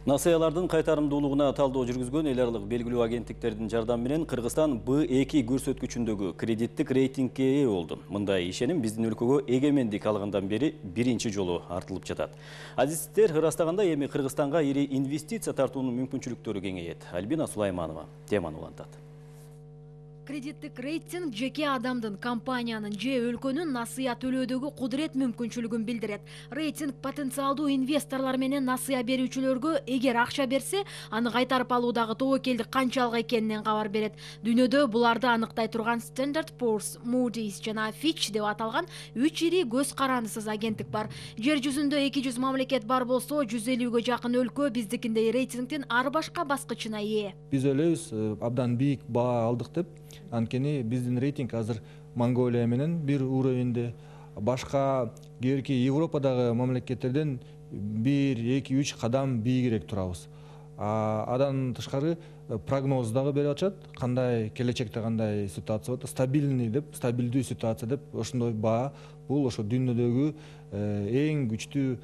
Насыялардын кайтарымдуулугуна талдоо жүргүзгөн эл аралык белгилүү агенттиктердин жардамы менен Кыргызстан B2 көрсөткүчүндөгү кредиттик рейтингге ээ болду. Мындай ишеним биздин өлкөгө эгемендик алгандан бери биринчи жолу артылып жатат. Азиздер ырастаганда эми Кыргызстанга ири инвестиция тартуунун мүмкүнчүлүктөрү кеңейет. Альбина Сулайманова теманы улантат. Кредиттик рейтинг жеке адамдын, компаниянын же өлкөнүн насыя төлөөдөгү кудурет мүмкүнчүлүгүн билдирет. Рейтинг потенциалдуу инвесторлор менен насыя берүүчүлөргө эгер акча берсе, аны кайтарып алуудагы тобокелдик канчалык экенинен кабар берет. Дүйнөдө буларды аныктай турган Standard & Poor's, Moody's жана Fitch деп аталган 3 ири көз карандысыз агенттик бар. Жер жүзүндө 200 мамлекет бар болсо, 150гө жакын өлкө биздикиндей рейтингдин ар башка баскычына ээ. Биз ойлойбуз, абдан бийик баа алдык деп. Анткени биздин рейтинг азыр Монголия менен бир уровеньде, башка кээки Европадагы мамлекеттерден 1-2-3 кадам бийигирээк турабыз. Адан тышкары прогноз дагы берип атышат, кандай келечекте кандай ситуация болот, стабильный деп, стабилдүү ситуация деп, ошондой баа бул ошо дүйнөдөгү эң күчтүү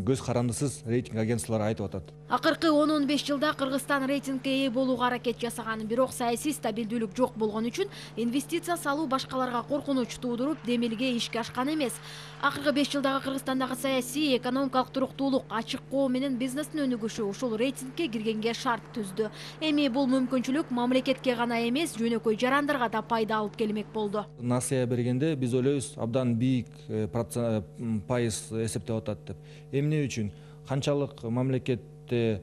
көз карандысыз рейтинг агентстволору айтып атат. Акыркы 10-15 жылда Кыргызстан рейтингге ээ болууга аракет жасаган, бирок саясий стабилдүүлүк жок болгон үчүн инвестиция салуу башкаларга коркунуч туудуруп, демилге ишке ашкан эмес. Акыркы 5 жылдагы Кыргызстандагы саясий, экономикалык туруктуулук, ачык коо менен бизнестин өнүгүшү ушул рейтингге киргенге шарт түздү. Эми бул мүмкүнчүлүк мамлекетке гана эмес, жөнөкөй жарандарга да пайда алып келмек болду. Насыя бергенде биз ойлойбуз, абдан бийик пайыз эсептеп атат деп. Эмне үчүн? Канчалык мамлекетте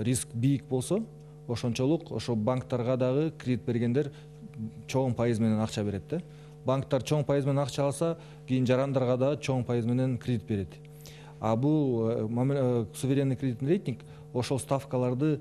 риск бийик болсо, ошончолук ошо банктарга дагы кредит бергендер чоң пайыз менен акча берет да. Банктар чоң пайыз менен акча алса, кийин жарандарга да чоң пайыз менен кредит берет. Бул суверенный кредиттин рейтинг ошол ставкаларды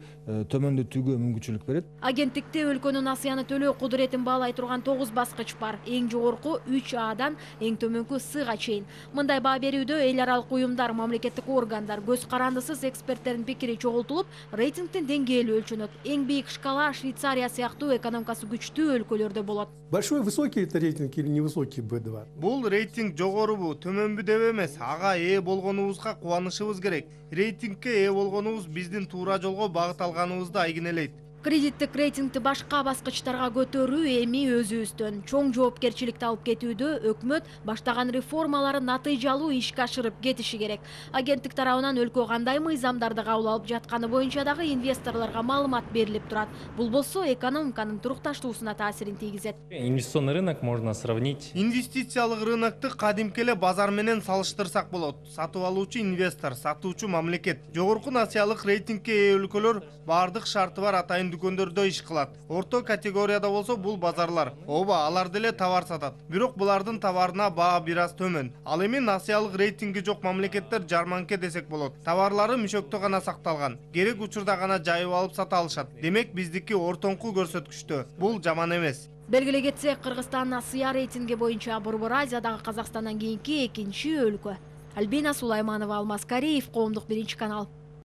төмөндөтүүгө мүмкүнчүлүк берет. Агенттикте өлкөнүн насыяны төлөө кудуретин баалай турган 9 баскыч бар. Эң жогорку 3Адан эң төмөнкү Сга чейин. Мындай баа берүүдө эл аралык уюмдар, мамлекеттик органдар, көз карандысыз эксперттердин пикири чогултулуп, рейтингдин деңгээли өлчөнөт. Эң бийик шкала Швейцария сыяктуу экономикасы күчтүү өлкөлөрдө болот. Большой высокий это рейтинг или невысокий B2? Бул рейтинг жогорубу, төмөнбү деп эмес, ага ээ болгонубузга кубанышыбыз керек. Рейтингке ээ болгонубуз биздин туура жолго багыт алганыбызды айгинелейт. Кредиттик рейтингди башка баскычтарга көтөрүү эми өзүбүздөн чоң жоопкерчиликти алып кетүүдө өкмөт баштаган реформалары натыйжалуу ишке ашырып кетиши керек. Агенттик тарабынан өлкө кандай мыйзамдарды кабыл алып жатканы боюнча дагы инвесторлорго маалымат берилип турат. Бул болсо экономиканын турукташтуусуна таасирин тийгизет. Инвестиционный рынок можно сравнить. Инвестициялык рынокты кадимки эле базар менен салыштырсак болот. Сатып алуучу инвестор, сатуучу мамлекет. Жогорку насыялык рейтингке ээ өлкөлөр бардык шарты бар атайын дүкөндөрдө иш кылат. Орто категорияда болсо бул базарлар. Ооба, алар деле товар сатат. Бирок булардын товарына баа бир аз төмөн. Ал эми насыялык рейтинги жок мамлекеттер жарманке десек болот. Товарлары мишөктө гана сакталган. Керек учурда гана жайып алып сата алышат. Демек биздики ортоңку көрсөткүчтө. Бул жаман эмес. Белгилей кетсек, Кыргызстан насыя рейтинги боюнча Борбор Азиядагы Казакстандан кийинки экинчи өлкө. Альбина Сулайманова, Алмаз Кариев, Коомдук 1 канал.